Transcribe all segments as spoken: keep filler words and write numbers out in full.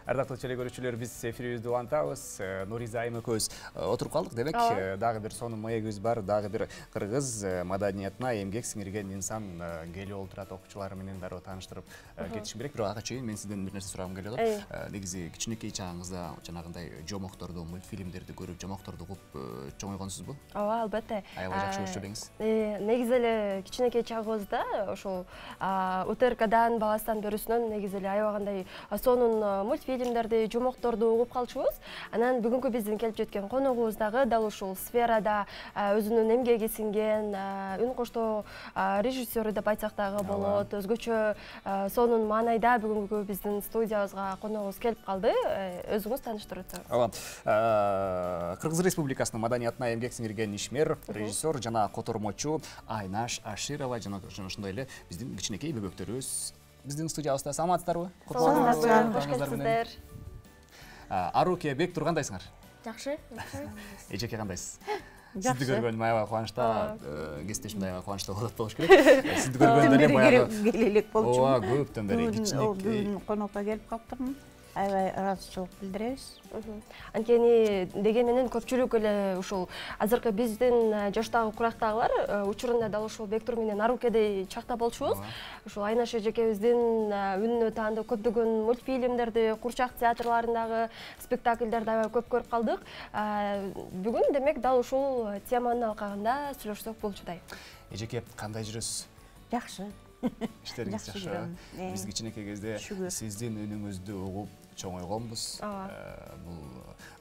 Ардактуу теле көрүүчүлөр, биз эфирибизди улантабыз. Нуриза айым экөөбүз отуруп калдык демек. Дагы бир сонун маегибиз бар, дагы бир кыргыз маданиятына эмгек сиңирген инсан келип олтурат, окуучулар менен дароо тааныштырып кетишим керек. Бирок ага чейин мен сизден бир нерсе сурагым келип атат. Негизи кичинекей чагыңызда жанагындай жомокторду, мультфильмдерди көрүп, жомокторду угуп чоңойгонсузбу? Ооба, албетте. Аябай жакшы көрчү элеңиз. Негизи эле кичинекей чагыбызда ошол УТРКдан баластан берүүсүнөн негизи эле аябагандай сонун мультфильмдерди, жомокторду угуп калчубуз. Анан бүгүнкү биздин келип жеткен коногубуз дагы дал ушул сферада өзүнүн эмгеги сиңген, үн коштоо режиссеру деп айтсак дагы болот. Өзгөчө сонун маанайда бүгүнкү биздин студиябызга коногубуз келип калды. Өзүңүз тааныштырып өтсөңүз. Ооба. Кыргыз Республикасынын маданиятына эмгек сиңирген ишмер, режиссер жана котормочу Айнаш Аширова жана ошондой эле биздин кичинекей бөбөктөрүбүз биздин студиябызда. Саламатсыздарбы? Саламатсыздар, кош келипсиздер. Аруке, Бектур кандайсыңар? Жакшы, жакшы. Эжеке кандайсыз? Жакшы. Сизди көргөнүм аябай кубанычта, кесиптешим аябай кубанычта болот болуш керек. Сизди көргөндө эле баягы келелек болчу. Ооба, көптөн бери кичинекей. Конокко келип калыптырмын. Аябай ыраазычылык билдиребиз. Анткени деген менен көпчүлүк эле ушул азыркы биздин жаштагы курактагылар учурунда дал ушул Бектур менен Арукедей чакта болчубуз. Ушул Айнаш эжекебиздин үнүнө таандуу көптөгөн мультфильмдерди, курчак театрларындагы спектакльдерди аябай көп көрүп калдык. Бүгүн демек дал ушул теманын алкагында сүйлөшсөк болчудай. Эжеке, кандай жүрөсүз? Жакшы. Иштериңиз жакшы. Биз кичинекей кезде сиздин үнүңүздү угуп чоңойгонбуз. Бул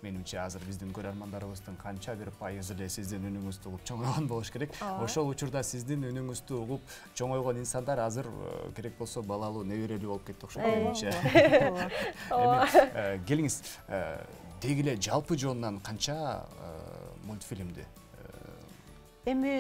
менимче азыр биздин көрөрмандарыбыздын канча бир пайызы эле сиздин үнүңүздү угуп чоңойгон болуш керек. Ошол учурда сиздин үнүңүздү угуп чоңойгон инсандар азыр керек болсо балалуу, неберелүү болуп кетти окшойт менимче. Эми келиңиз, деги эле жалпы жонунан канча мультфильмди Эми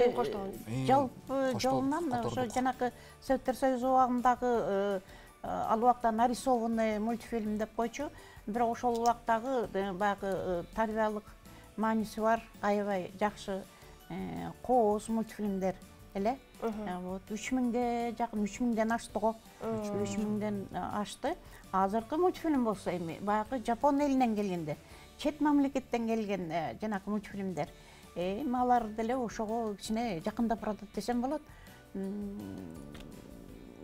жалпы жолунан ошо жанакы Советтер Союзу убагындагы ал убакта нарисованный мультфильм деп койчу. Бирок ошол убактагы баягы тарбиялык мааниси бар, аябай жакшы кооз мультфильмдер эле. Вот үч миңге жакын, үч миңден ашты го. үч миңден ашты. Азыркы мультфильм болсо эми баягы Жапон элинен келгенде, чет мамлекеттен келген жанакы мультфильмдер. Эми алар деле ошого кичине жакындап баратат десем болот.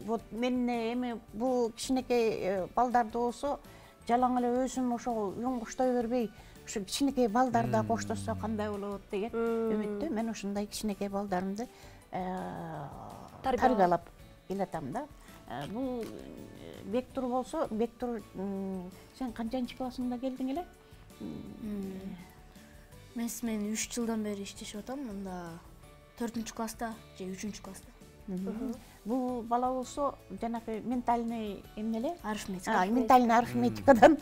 Вот мен эми бул кичинекей балдарды болсо жалаң эле өзүм ошого үн коштой бербей, ушу кичинекей балдар да коштошсо кандай болот деген үмүттө мен ушундай кичинекей балдарымды тарбиялап келатам да. Бул Бектур болсо, Бектур сен канчанчы классыңда келдиң эле? Мен мен үч жылдан бери иштешип атам, мында төртүнчү класста же үчүнчү класста. Бул бала болсо жанакы ментальный эмне эле? Арифметика. Ментальный арифметикадан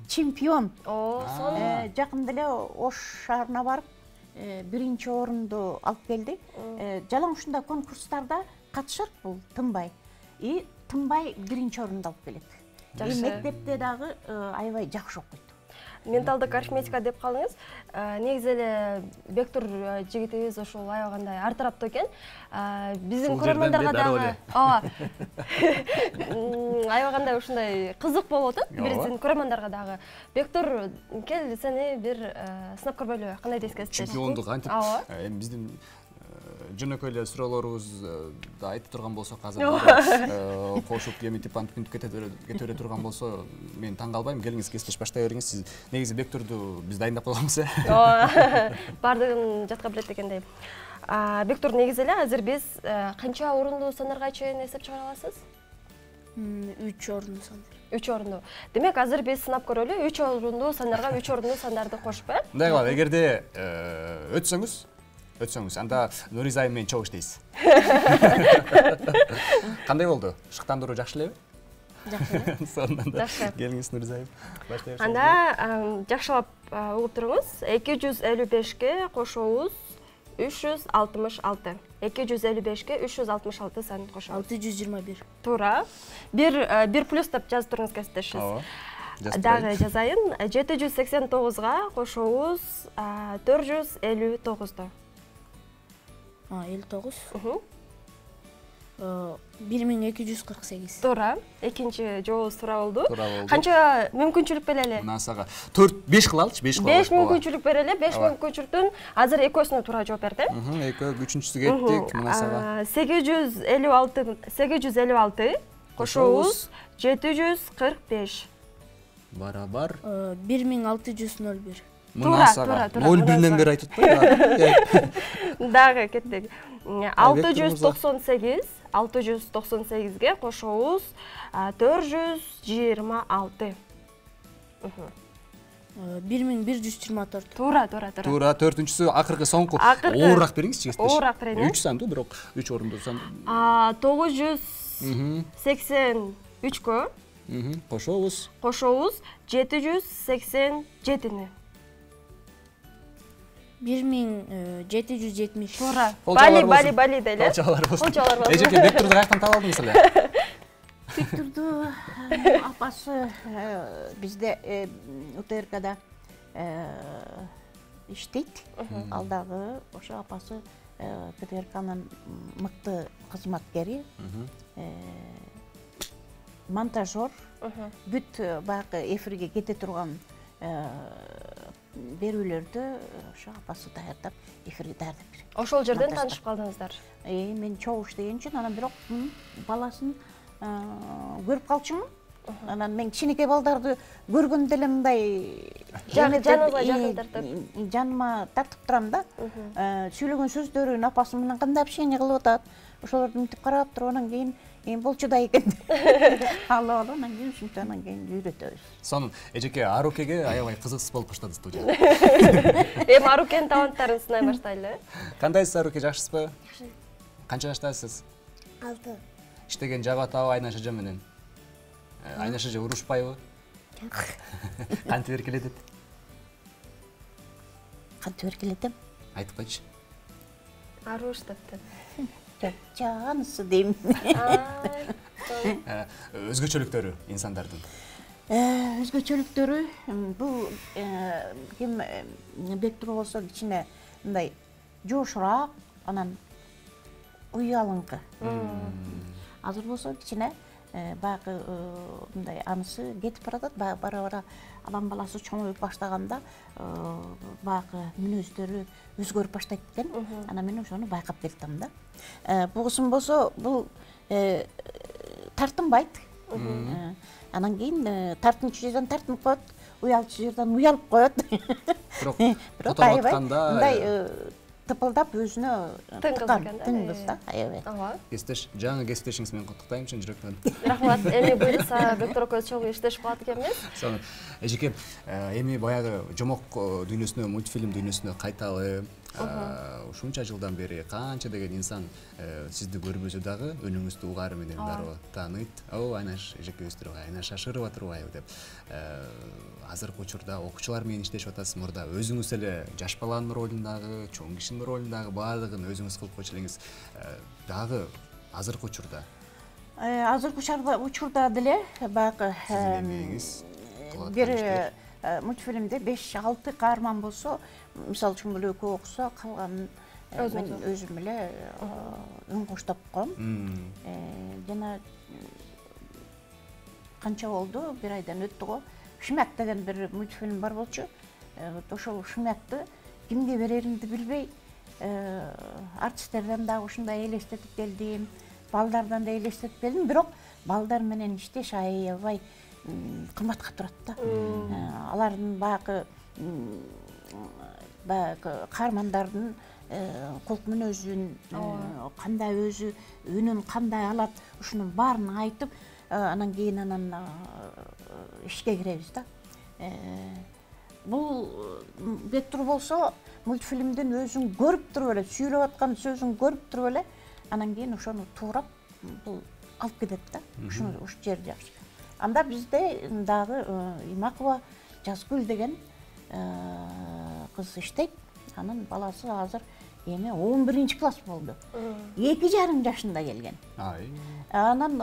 чемпион. О, сонун. Жакында эле Ош шаарына барып, биринчи орунду алып келди. Жалаң ушундай конкурстарда катышат бул тынбай. И тынбай биринчи орунду алып келет. И мектепте дагы аябай жакшы окуйт. Менталдык арифметика деп калдыңыз. Негизи эле Бектур жигитибиз ошол аябагандай ар тараптуу экен. Биздин көрөрмандарга дагы ооба. Аябагандай ушундай кызык болуп атат биздин көрөрмандарга дагы. Бектур, кел сени бир сынап көрбөйлүбү? Кандай дейсиз? Чемпиондук антип эми биздин жөнөкөй эле суроолорубузду айтып турган болсок, азыр кошуп эметип антип кете бере турган болсо, мен таң калбайм. Келиңиз, кесиптеш баштай бериңиз. Сиз негизи Бектурду биз дайындап койгонбуз э. Ооба. Бардыгын жатка билет дегендей. Бектур, негизи эле азыр биз канча орундуу сандарга чейин эсеп чыгара аласыз? үч орундуу сандар. үч орундуу. Демек, азыр биз сынап көрөлү, үч орундуу сандарга үч орундуу сандарды кошуп, э? Мындай кылалы, эгерде өтсөңүз, өтсөңүз, анда Нуриза айым менен чогуу иштейсиз. Кандай болду? Шыктандыруу жакшы элеби? Жакшы. Сонун да. Келиңиз, Нуриза айым. Баштай берсеңиз. Анда жакшылап угуп туруңуз. эки жүз элүү бешке кошобуз үч жүз алтымыш алты. эки жүз элүү бешке үч жүз алтымыш алты санын кошобуз. алты жүз жыйырма бир. Туура. бир плюс деп жазып туруңуз, кесиптешиз. Ооба. Дагы жазайын. жети жүз сексен тогузга кошобуз төрт жүз элүү тогузду. элүү тогуз. бир миң эки жүз кырк сегиз. Туура. Экинчи жообуз туура болду. Туура болду. Канча мүмкүнчүлүк берели? Мына сага төрт беш кыла алчы, беш кыла. беш мүмкүнчүлүк берели. беш мүмкүнчүлүктүн азыр экөөсүнө туура жооп берди. Экөө үчүнчүсү кеттик. Мына сага сегиз жүз элүү алты сегиз жүз элүү алты кошобуз жети жүз кырк беш. Барабар бир миң алты жүз ноль бир. Мына сага ноль бирден бери айтып атпайбы? Дагы кеттик. алты жүз токсон сегиз алты жүз токсон сегизге кошобуз төрт жүз жыйырма алты. бир миң бир жүз жыйырма төрт. Туура, туура, туура. Туура, төртүнчүсү акыркы соңку. Оорураак бериңизчи, кесиптеш. Оорураак берейин. үч санды, бирок үч орунду сан. тогуз жүз сексен үчкө кошобуз. Кошобуз жети жүз сексен жетини. бир миң жети жүз жетимиш. Туура. Бали, бали, бали деле. Колчалар болсун. Колчалар болсун. Эжеке, Бектурду каяктан таап алдыңыз эле? Бектурду апасы бизде УТРКда иштейт. Ал дагы ошо апасы ТТРКнын мыкты кызматкери. Монтажер. Бүт баягы эфирге кете турган берүүлөрдү ошо апасы даярдап, эфирге даярдап берет. Ошол жерден таанышып калдыңыздар. Э, мен чогуу иштеген үчүн, анан бирок баласын көрүп калчумун. Анан мен кичинекей балдарды көргөндө эле мындай жаныңызга жакын тартып, жаныма тартып турам да. Сүйлөгөн сөздөрүн апасы менен кандай общение кылып атат, ошолорду мынтип карап туруп, анан кийин эми болчу да экен. Алла алла, анан кийин ушинтип анан кийин үйрөтөбүз. Сонун эжеке Арукеге аябай кызыксыз болуп баштады студия. Эми Арукенин таланттарын сынай баштайлы. Кандайсыз, Аруке, жакшысызбы? Жакшы. Канча жаштасыз? алты. Иштеген жагы атабы Айнаш эже менен? Айнаш эже урушпайбы? Кантип эркелетет? Кантип эркелетем? Айтып койчу. Аруш депти. Жанысы дейм. Өзгөчөлүктөрү инсандардын? Өзгөчөлүктөрү бул ким Бектур болсо кичине мындай жошураак, анан уялыңкы. Азыр болсо кичине баягы мындай анысы кетип баратат, бара-бара алам баласы чоңоюп баштаганда баягы мүнөздөрү өзгөрүп баштайт экен. Анан мен ошону байкап келдим да. Бугусун болсо бул тартынбайт. Анан кийин тартынчу жерден тартынып коет, уялчу жерден уялып коет. Бирок бирок аябай мындай тыпылдап өзүнө тыккан тыңгыз да, аябай. Кесиптеш, жаңы кесиптешиңиз менен куттуктайм чын жүрөктөн. Рахмат. Эми буюрса Бектур экөөбүз чогуу иштешип калат экенбиз. Сонун. Эжеке, эми баягы жомок дүйнөсүнө, мультфильм дүйнөсүнө кайталы. Ушунча жылдан бери канча деген инсан сизди көрбөсө дагы үнүңүздү угаары менен дароо тааныйт. О, Айнаш эжекебиз турбай, Айнаш шашырып атырбайбы деп. Азыркы учурда окуучулар менен иштешип атасыз, мурда өзүңүз эле жаш баланын ролундагы, чоң кишинин ролундагы баардыгын өзүңүз кылып койчу элеңиз. Дагы азыркы учурда? Азыркы учурда деле баягы бир мультфильмде беш алты каарман болсо, мисалы үчүн эле экөө окуса, калганын мен өзүм эле үн коштоп коем. Жана канча болду, бир айдан өттү го. Шмяк деген бир мультфильм бар болчу. Ошол Шмякты кимге береримди билбей, артисттерден дагы ушундай элестетип келдим, балдардан да элестетип келдим, бирок балдар менен иштеш аябай кымбатка турат да. Алардын баягы баягы каармандардын кулк мүнөзүн, кандай өзү үнүн кандай алат, ушунун баарын айтып, анан кийин анан ишке киребиз да. Бул Бектур болсо мультфильмдин өзүн көрүп туруп эле, сүйлөп аткан сөзүн көрүп туруп эле, анан кийин ошону туурап бул алып кетет да. Ушуну уш жери жакшы. Анда бизде дагы Имакова Жазгүл деген кыз иштейт. Анын баласы азыр эми он биринчи класс болду. эки жарым жашында келген. Анан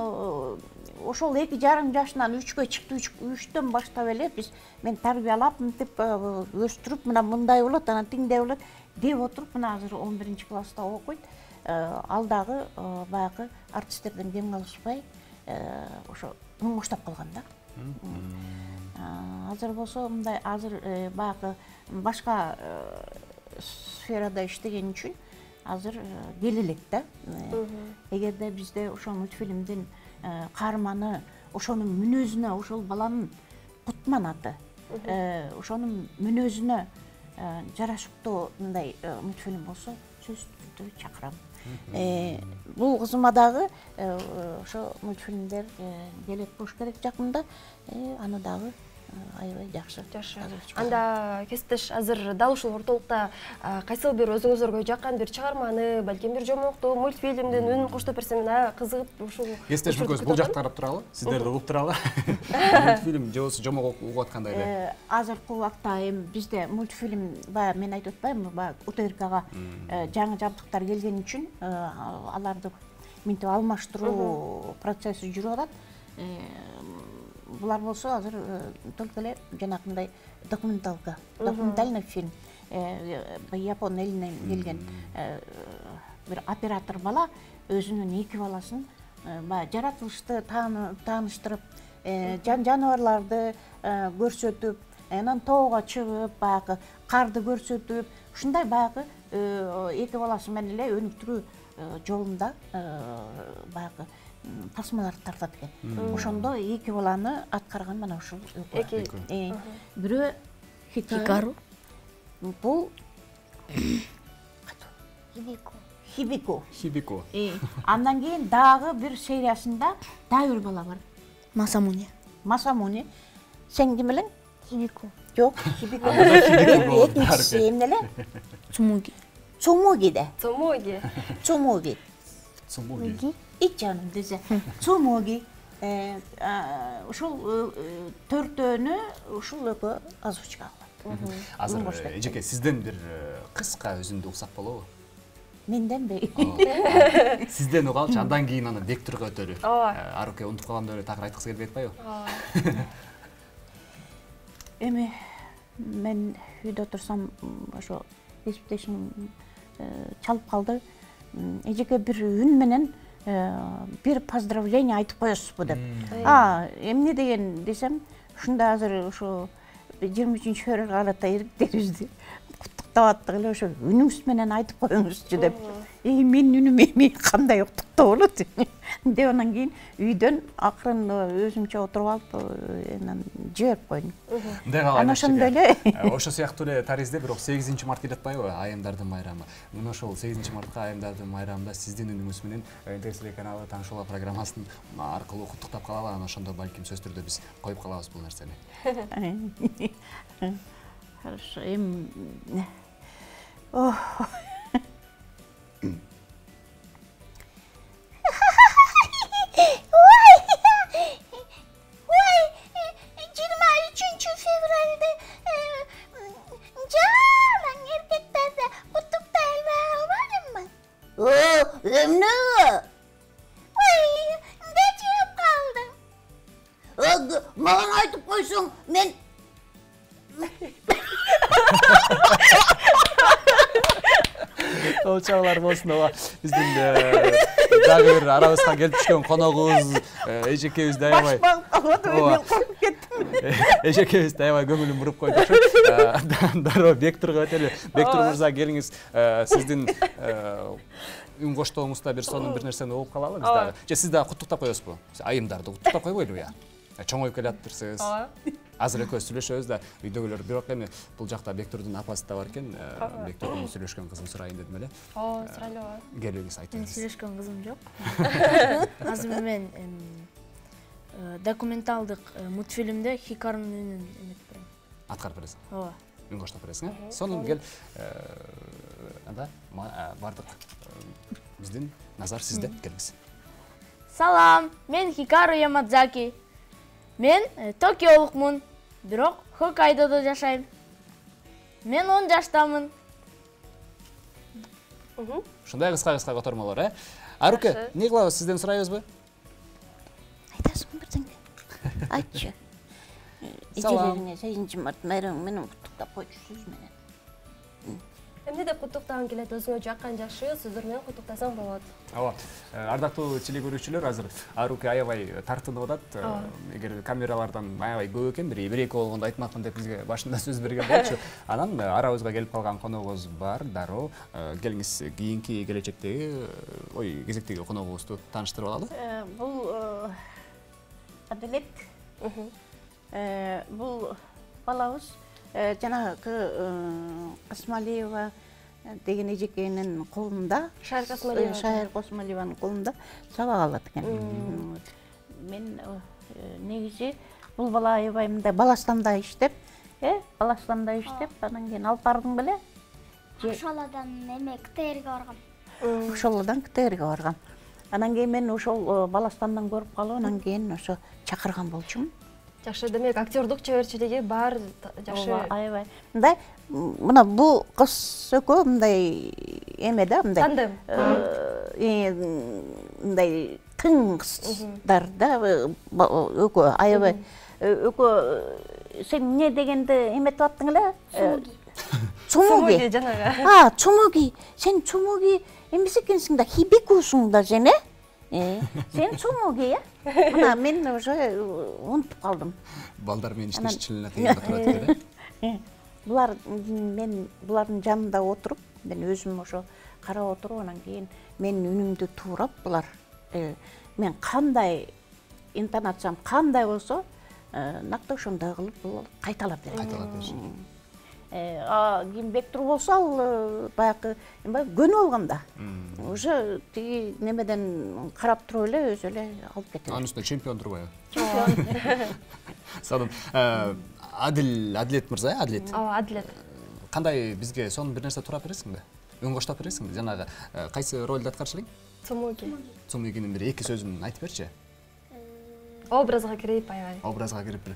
ошол эки жарым жашынан үчкө чыкты, үчтөн баштап эле биз мен тарбиялап, мынтип өстүрүп, мына мындай болот, анан тиңдей болот деп отуруп, мына азыр он биринчи класста окуйт. ал дагы баягы артисттерден кем калышпай ошо оңоштоп калган да. Азыр болсо мындай азыр баягы башка сферада иштеген үчүн азыр кел элек да. Эгерде бизде ошол мультфильмдин каарманы ошонун мүнөзүнө, ошол баланын кутманаты, ошонун мүнөзүнө жарашыктуу мындай мультфильм болсо сөзсүз түрдө чакырам. Бул кызыма дагы ошо мультфильмдер келет болуш керек жакында. Аны дагы аябай жакшы. Жакшы. Анда кесиптеш азыр дал ушул ортолукта кайсыл бир өзүңүзгө жаккан бир чыгарманы, балким бир жомокту, мультфильмдин үнүн коштоп берсем, кызыгып ушул. Кесиптеш мүкөз бул жакта карап туралы, сиздерди угуп туралы. Мультфильм же болбосо жомок угуп аткандай эле. Азыркы убакта эми бизде мультфильм баягы мен айтып атпаймынбы, баягы УТРКга жаңы жабдыктар келген үчүн аларды минтип алмаштыруу процесси жүрүп атат. Булар болсо азыр только эле жанакындай документалка, документальный фильм. Япон элинен келген бир оператор бала өзүнүн эки баласын баягы жаратылышты тааныштырып, жаныбарларды көрсөтүп, анан тоого чыгып, баягы карды көрсөтүп, ушундай баягы эки баласы менен эле өнүктүрүү жолунда баягы тасмаларды тартат экен. Ошондо эки баланы аткарган мына ушул эки. Бирөө Хикару. Бул Хибико. Хибико. Хибико. Андан кийин дагы бир сериясында дагы бир бала бар. Масамуни. Масамуни. Сен ким элең? Хибико. Жок, Хибико. Экинчиси эмне эле? Цумуги. Цумуги да. Цумуги. Цумуги. Цумуги. Ит жаным десе. Цумуги. Ушул төртөөнү ушул экөө озвучка кылат. Азыр эжеке сизден бир кыска өзүндү уксак болобу? Менденби? Сизден угалчы, андан кийин аны Бектурга өтөлү. Аруке унутуп калгам деп эле такыр айткысы келбей атпайбы? Эми мен үйдө турсам ошо кесиптешим чалып калды. Эжеке бир үн менен бир поздравление айтып коесузбу деп. А, эмне деген десем, ушунда азыр ошо жыйырма үчүнчү февралга карата эриктерибизди куттуктап аттык эле ошо үнүңүз менен айтып коюңузчу деп. Эй, менин үнүм эми кандай куттуктоо болот деп анан кийин үйдөн акырын өзүмчө отуруп алып анан жиберип койдум. Анан ошондой эле. Ошо сыяктуу эле таризде бирок сегизинчи март келип атпайбы, айымдардын майрамы. Мына ошол сегизинчи мартка айымдардын майрамында сиздин үнүңүз менен Интер телеканалы Таанышуулар программасын аркылуу куттуктап калалы, анан ошондо балким сөз түрдө биз коюп калабыз бул нерсени. Хорошо, эми жыйырма үчүнчү февралды жалаң эркектерди куттуктай албадымбы? О, эмне? Ой, эмне жеп калдым? Мага айтып койсоң, мен Ол чагалар болсун ооба. Биздин дагы бир арабызга келип түшкөн коногубуз эжекебиз аябай. Мен коюп кеттим. Эжекебиз аябай көңүлүн буруп койду. Дароо Бектурга өтөлү. Бектур мырза, келиңиз. Сиздин үн коштооңузда бир сонун бир нерсени угуп калалы биз дагы. Же сиз дагы куттуктап коесузбу? Айымдарды куттуктап койбойлубу я? Чоңоюп келатырсыз. Азыр экөөбүз сүйлөшөбүз да, үйдөгүлөр бирок эми бул жакта Бектурдун апасы да бар экен. Бектурдун сүйлөшкөн кызын сурайын дедим эле. Ооба, сурайлы. Келиңиз, айтыңыз. Сүйлөшкөн кызым жок. Азыр мен документалдык мультфильмде Хикарунун үнүн эметип берем. Аткарып бересиң. Ооба. Үн коштоп бересиң, э? Сонун кел. Анда бардык. Биздин назар сизде, келиңиз. Салам, мен Хикару Ямадзаки. Мен Токиолукмун, бирок Хоккайдодо жашайм. Мен он жаштамын. Ушундай кыска-кыска котормолор, э? Аруке, эмне кылабыз, сизден сурайбызбы? Айтасың бирдеңе. Айтчы. Эжелериңе сегизинчи март майрамы менен куттуктап койчу сөз менен. Эмне деп куттуктагың келет? Өзүңө жаккан жакшы сөздөр менен куттуктасаң болот. Ооба. Ардактуу телекөрүүчүлөр, азыр Аруки аябай тартынып атат. Эгер камералардан аябай көп экен, бир бир эки болгондо айтмакмын деп бизге башында сөз берген болчу. Анан арабызга келип калган коногубуз бар, дароо. Келиңиз кийинки келечектеги, ой, кезектеги коногубузду тааныштырып алалы. Бул Адилет. Бул балабыз жанагы Касмалиева деген эжекенин колунда, Шайыр Касмалиева. Шайыр Касмалиеванын колунда сабак алат экен. Мен негизи бул бала аябай мындай Баластанда иштеп, э, Баластанда иштеп, анан кийин алып бардың беле? Ошолодан эме КТРге баргам. Ошолодан КТРге баргам. Анан кийин мен ошол Баластандан көрүп калып, анан кийин ошо чакырган болчумун. Жакшы, демек актердук чеберчилиги бар, жакшы. Аябай. Мындай, мына бул кыз экөө мындай эме да, мындай. Тандем. Мындай тың кыздар да, экөө аябай. Экөө сен эмне дегенди эметип аттың эле? Цумуги. Цумуги жанагы. А, Цумуги. Сен Цумуги эмес экенсиң да, Хибикусуң да сен, э? Сен Цумуги, э? Мына мен уже унутуп калдым. Балдар менен иштешчилине кыйынга турат эле. Булар мен булардын жанында отуруп, мен өзүм ошо карап отуруп, анан кийин менин үнүмдү туурап булар мен кандай интонациям кандай болсо, накты ошондой кылып бул кайталап берет. Кайталап беришет. А кийин Бектур болсо ал баягы көнүп алган да. Уже тиги немеден карап туруп эле өзү эле алып кетет. Анын үстүнө чемпион турбайбы? Сонун. Адил, Адилет мырза, Адилет. Ооба, Адилет. Кандай бизге сонун бир нерсе турап бересиңби? Үн коштоп бересиңби? Жанагы кайсы ролду аткарчу элең? Цумуги. Цумугинин бир эки сөзүн айтып берчи. Образга кирип аябай. Образга кирип бир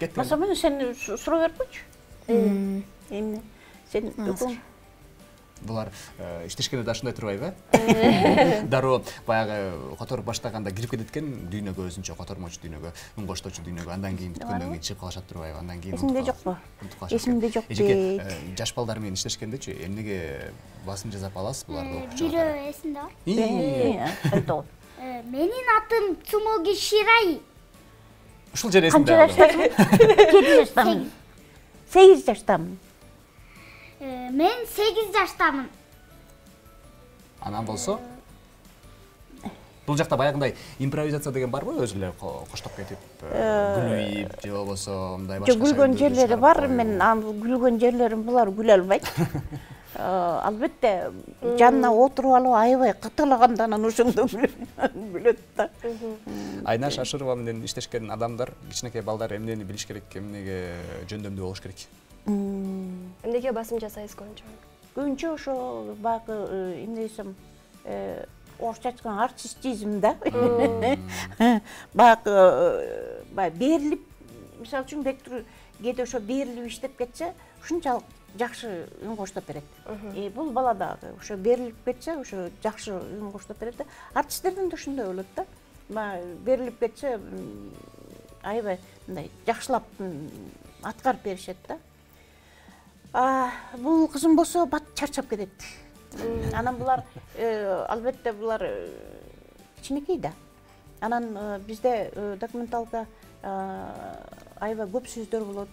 кеткен. Масамын сен суроо берпечи. Эмне? Сен үкүң Булар иштешкенде да ушундай турбайбы? Дароо баягы которуп баштаганда кирип кетет экен дүйнөгө, өзүнчө котормочу дүйнөгө, үн коштоочу дүйнөгө, андан кийин бүткөндөн кийин чыгып калышат турбайбы? Андан кийин эсимде жокпу? Эсимде жок дейт. Жаш балдар менен иштешкендечи эмнеге басым жасап аласыз буларды окуучу? Бирөө эсимде бар. Менин атым Цумуги Ширай. Ушул жер эсимде. Канча жаштасың? Жети жаштамын. Сегиз жаштамын. Мен сегиз жаштамын. Анан болсо бул жакта баягындай импровизация деген барбы? Өзү эле коштоп кетип, күлүп же болбосо мындай башка. Жок, күлгөн жерлери бар, мен күлгөн жерлерим булар күлө албайт. Албетте жанына отуруп алып аябай кытылаганда анан ошондо күлөт да. Айнаш Ашырова менен иштешкен адамдар, кичинекей балдар эмнени билиш керек, эмнеге жөндөмдүү болуш керек? Эмнеге басым жасайсыз көбүнчө? Көбүнчө ошо баягы эмне десем, орусча айтканда артистизм да. Баягы баягы берилип, мисалы үчүн Бектур кээде ошо берилип иштеп кетсе, ушунчалык жакшы үн коштоп берет. Бул бала дагы ошо берилип кетсе, ошо жакшы үн коштоп берет да. Артисттерден да ушундай болот да. Баягы берилип кетсе, аябай мындай жакшылап аткарып беришет да. Бул кызым болсо бат чарчап кетет. Анан булар албетте булар кичинекей да. Анан бизде документалка аябай көп сөздөр болот.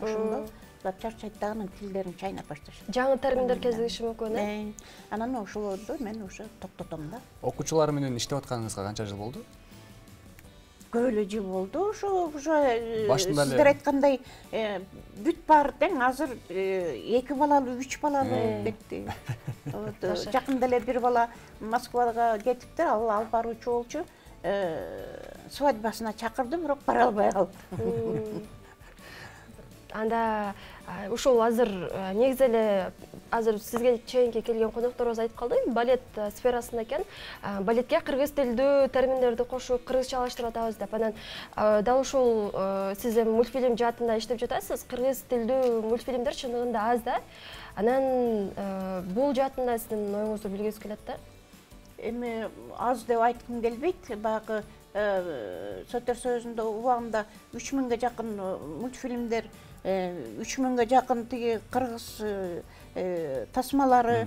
Ошондо булар чарчайт да, анан тилдерин чайнап башташат. Жаңы терминдер кезигиши мүмкүн, э? Анан ошолорду мен уже токтотом да. Окуучулар менен иштеп атканыңызга канча жыл болду? Көп эле жыл болду. Ошо уже сиздер айткандай бүт бар тең, азыр эки балалуу, үч балалуу кетти. Жакында эле бир бала Москвага кетиптир, ал алып баруучу болчу. Свадьбасына чакырды, бирок бара албай калды. Анда ушул азыр негизи эле азыр сизге чейинки келген конокторубуз айтып калды, балет сферасында экен. Балетке кыргыз тилдүү терминдерди кошуп, кыргызчалаштырып атабыз деп. Анан дал ушул сиз эми мультфильм жаатында иштеп жатасыз. Кыргыз тилдүү мультфильмдер чындыгында аз да. Анан бул жаатында сиздин оюңузду билгибиз келет да. Эми аз деп айткым келбейт. Баягы Советтер Союзунда убагында үч миңге жакын мультфильмдер, үч миңге жакын тиги кыргыз тасмалары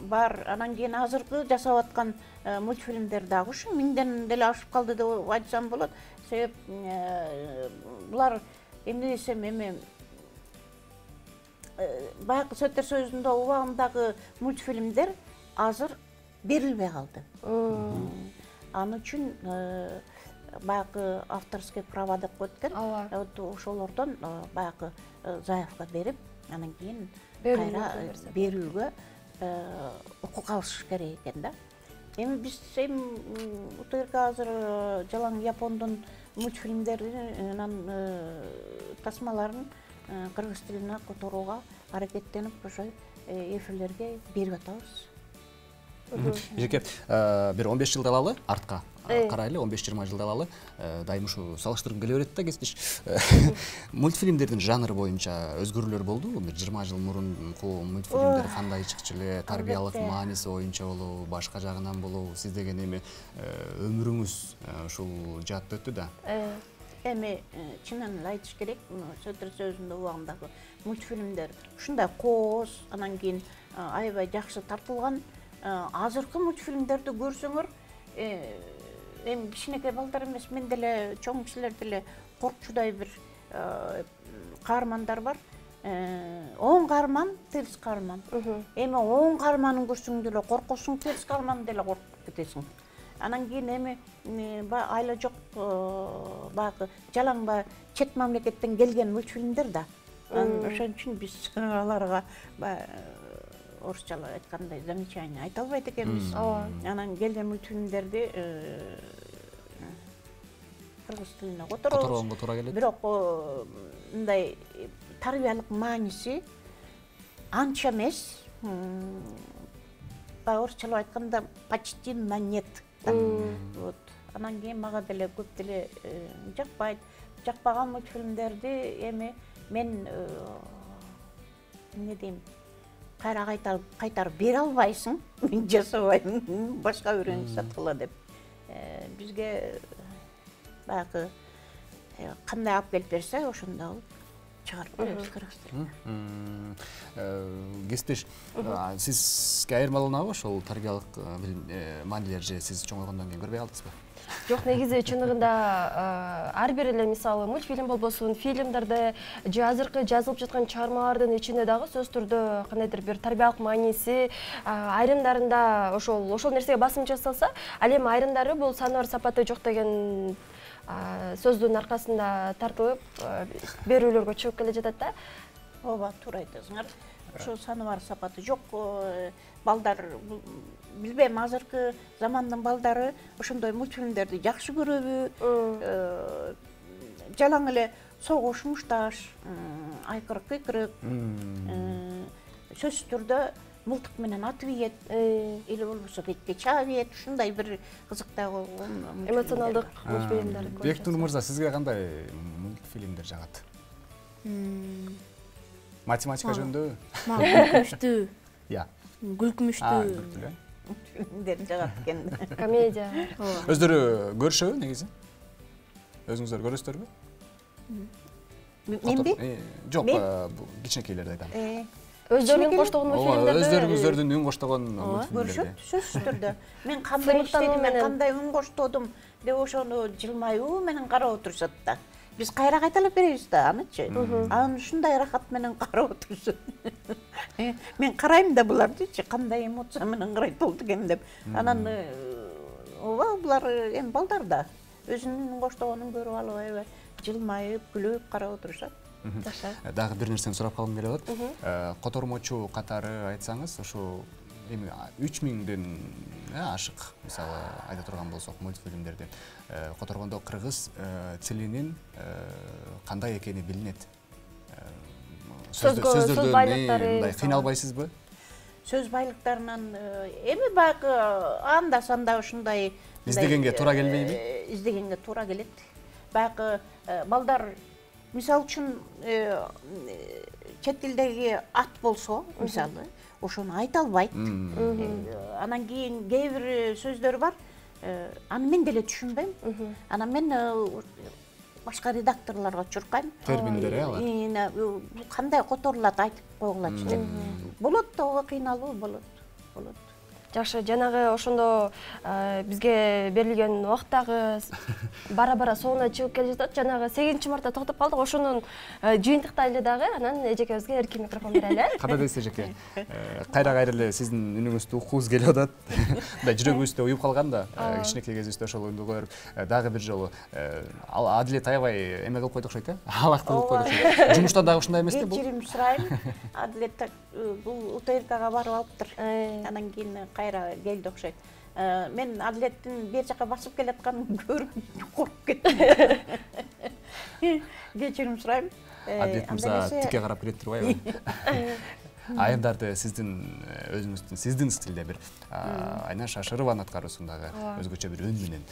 бар. Анан кийин азыркы жасап аткан мультфильмдер дагы ушу миңден деле ашып калды деп айтсам болот. Себеп булар эмне десем эми баягы Советтер Союзунда убагындагы мультфильмдер азыр берилбей калды. Аны үчүн баягы авторский права деп коет экен. Вот ошолордон баягы заявка берип, анан кийин кайра берүүгө укук алыш керек экен да. Эми биз эми УТРК азыр жалаң япондун мультфильмдерин, анан тасмаларын кыргыз тилине которууга аракеттенип ошо эфирлерге берип атабыз. Бижеке, бир он беш жылда алалы артка карайлы, он беш жыйырма жылда алалы, дайым ушу салыштыргым келе берет да кесиптеш. Мультфильмдердин жанры боюнча өзгөрүүлөр болдубу? Бир жыйырма жыл мурунку мультфильмдер кандай чыкчу эле, тарбиялык мааниси боюнча болобу, башка жагынан болобу? Сиз деген эми өмүрүңүз ушул жаатта өттү да. Эми чынын эле айтыш керек, Советтер Союзунда убагындагы мультфильмдер ушундай кооз, анан кийин аябай жакшы тартылган. Азыркы мультфильмдерди көрсөңөр, эми кичинекей балдар эмес, мен деле чоң кишилер деле коркчудай бир каармандар бар. Он каарман, терс каарман. Эми он каарманын көрсөң деле коркосуң, терс каарман деле коркуп кетесиң. Анан кийин эми айла жок баягы жалаң ба чет мамлекеттен келген мультфильмдер да. Ошон үчүн биз аларга орусчалап айткандай замечание айта албайт экенбиз. Анан келген мультфильмдерди кыргыз тилине которобуз. Туура келет. Бирок мындай тарбиялык мааниси анча эмес. Орусчалап айтканда почти на нет. Вот. Анан кийин мага деле көп деле жакпайт. Жакпаган мультфильмдерди эми мен эмне дейм, кайра кайтарып бере албайсың, мен жасабайм, башка бирөөнү саткыла деп. Бизге баягы кандай алып келип берсе, ошондой алып чыгарып беребиз кыргыз тилине. Кесиптеш, сизге айырмаланабы ошол тарбиялык маанилер же сиз чоңойгондон кийин көрбөй калдыңызбы? Жок, негизи чыныгында ар бир эле мисалы мультфильм болбосун, фильмдерде же азыркы жазылып жаткан чыгармалардын ичинде дагы сөзсүз түрдө кандайдыр бир тарбиялык мааниси, айрымдарында ошол ошол нерсеге басым жасалса, ал эми айрымдары бул саны бар сапаты жок деген сөздүн аркасында тартылып берүүлөргө чыгып келе жатат да. Ооба, туура айтасыңар. Ошо саны бар сапаты жок. Балдар билбейм, азыркы замандын балдары ошондой мультфильмдерди жакшы көрөбү? Жалаң эле согуш, мушташ, айкырык, кыйкырык, сөзсүз түрдө мылтык менен атып ийет, или болбосо бетке чаап ийет, ушундай бир кызыктай болгон эмоционалдык мультфильмдер. Бектур мырза, сизге кандай мультфильмдер жагат? Математика жөнүндө? Мага күлкүмүштүү. Я. Күлкүмүштүү. Фильмдер жагат экен. Комедия. Өздөрү көрүшөбү негизи? Өзүңүздөр көрөсүздарбы? Менби? Жок, кичинекейлерди айтам. Өздөрүнүн коштогон мультфильмдерди. Өздөрүңүздөрдүн үн коштогон мультфильмдерди. Көрүшөт, сөзсүз түрдө. Мен кандай иштедим, мен кандай үн коштодум деп ошону жылмаюу менен карап отурушат да. Биз кайра кайталап беребиз да анычы. Аны ушундай рахат менен карап отурушат. Мен карайм да булардычы, кандай эмоция менен карайт болду экен деп. Анан ооба, булар эми балдар да өзүнүн коштогонун көрүп алып аябай жылмайып, күлүп карап отурушат. Дагы бир нерсени сурап калгым келип атат. Котормочу катары айтсаңыз, ошо эми үч миңден ашык, мисалы айта турган болсок, мультфильмдерди которгондо кыргыз тилинин кандай экени билинет. Сөз байлыктары мындай кыйналбайсызбы? Сөз байлыктарынан эми баягы анда санда ушундай издегенге туура келбейби? Издегенге туура келет. Баягы балдар мисалы үчүн чет тилдеги ат болсо, мисалы, ошону айта албайт. Анан кийин кээ бир сөздөр бар, аны мен деле түшүнбөйм. Анан мен башка редакторлорго чуркайм. Терминдер э алар. Кандай которулат айтып койгулачы деп. Болот да ого кыйналуу болот. Болот. Жакшы, жанагы ошондо бизге берилген убакыттагы бара-бара соңуна чыгып келе жатат. Жанагы сегизинчи мартта токтоп калдык. Ошонун жыйынтыктайлы дагы, анан эжекебизге эркин микрофон берели. Кандай дейсиз эжеке? Кайра-кайра эле сиздин үнүңүздү уккубуз келип атат. Мындай жүрөгүбүздө уюп калган да, кичинекей кезибизде ошол үнду коюп, дагы бир жолу Адилет аябай эме кылып койду окшойт э? Алак кылып койду окшойт. Жумуштан дагы ушундай эмеспи бул? Кечирим сурайм. Адилет бул УТРКга барып алыптыр. Анан кийин кайра келди окшойт. Мен Адилеттин бер жака басып келатканын көрүп коркуп кеттим. Кечирим сурайм. Адилет мырза тикке карап келет турбайбы? Айымдарды сиздин өзүңүздүн сиздин стилде бир Айнаш Шашырованын аткаруусундагы өзгөчө бир үн менен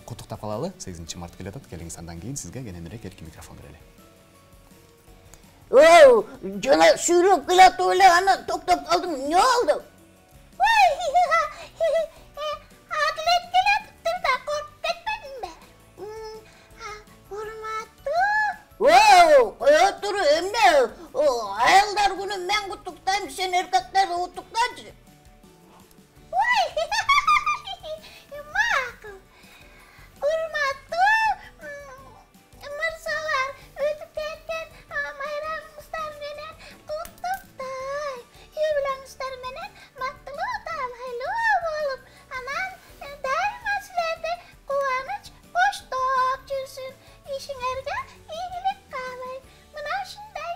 куттуктап калалы. сегизинчи март келе атат. Келиңиз, андан кийин сизге кененирээк эркин микрофон берели. Оу, жана сүйлөп келатып эле аны токтоп калдым. Эмне болду? Адилет келатыптыр да коркуп кетпедимби? Урматтуу. Оу, кое тур, эмне? Аялдар күнү мен куттуктайм, сен эркектерди куттуктачы. Макул. Урматтуу мырзалар, өтүп кеткен майрамыңыздар менен куттуктайм. Үй-бүлөңүздөр менен бактылуу, талайлуу болуп, анан дайыма силерди кубаныч коштоп жүрсүн. Ишиңерге ийгилик каалайм. Мына ушундай.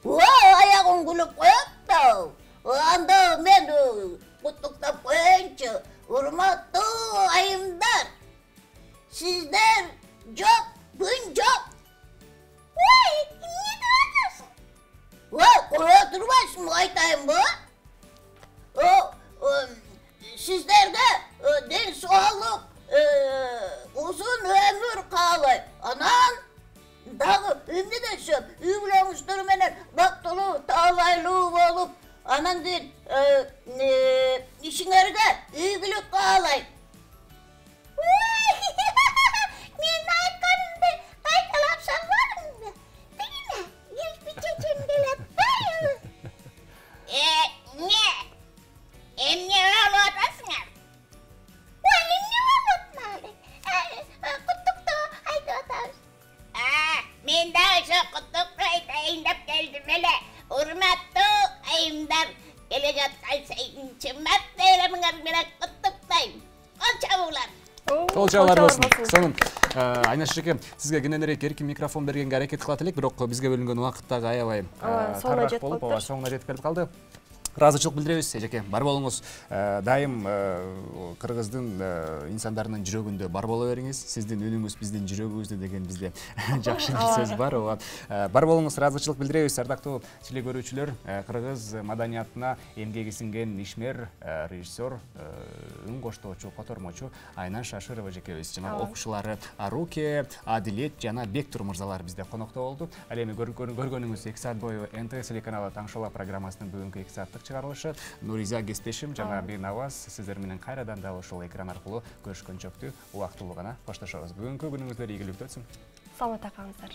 Оу, аягым күлүп коет да. Анда мен куттуктап коеюнчу. Урматтуу айымдар, сиздер жок, күн жок. Ой, эмне деп атасың? Ой, кое турбайсыңбы, айтайынбы? Сиздерге ден соолук, узун өмүр каалайм. Анан дагы эмне десем, үй-бүлөңүздөр менен бактылуу, талайлуу болуп, анан кийин ишиңерге ийгилик каалайм. Мен айтканымды кайталап салбадыңбы? Тигине, келип чечем келет. Эмне? Эмне болуп атасыңар? Ой, эмне болуп атмайлы? Куттуктоо айтып атабыз. Мен дагы ошо куттуктуу айтайын деп келдим эле. Урматтуу айымдар, келе жаткан сегизинчи март байрамыңар менен куттуктайм. Кол чабуулар. Кол чабуулар болсун. Сонун Айнаш эжеке, сизге кененирээк эркин микрофон бергенге аракет кылат элек, бирок бизге бөлүнгөн убакыт дагы аябай тарыраак болуп, соңуна жетип келип калды. Ыраазычылык билдиребиз эжеке. Бар болуңуз. Дайым кыргыздын инсандарынын жүрөгүндө бар боло бериңиз. Сиздин үнүңүз биздин жүрөгүбүздө деген бизде жакшы бир сөз бар. Ооба. Бар болуңуз, ыраазычылык билдиребиз. Ардактуу телекөрүүчүлөр, кыргыз маданиятына эмгеги сиңген ишмер, режиссер, үн коштоочу, котормочу Айнаш Шашырова эжекебиз жана окуучулары Аруке, Адилет жана Бектур мырзалар бизде конокто болду. Ал эми көргөнүңүз эки саат бою эн тэ вэ телеканалы Таң шоу программасынын бүгүнкү эки сааттык чыгарылышы. Нуриза кесиптешим жана Бейнаваз сиздер менен кайрадан дагы ушул экран аркылуу көрүшкөнчөктү убактылуу гана коштошобуз. Бүгүнкү күнүңүздөр ийгиликтүү өтсүн. Саламатта калыңыздар.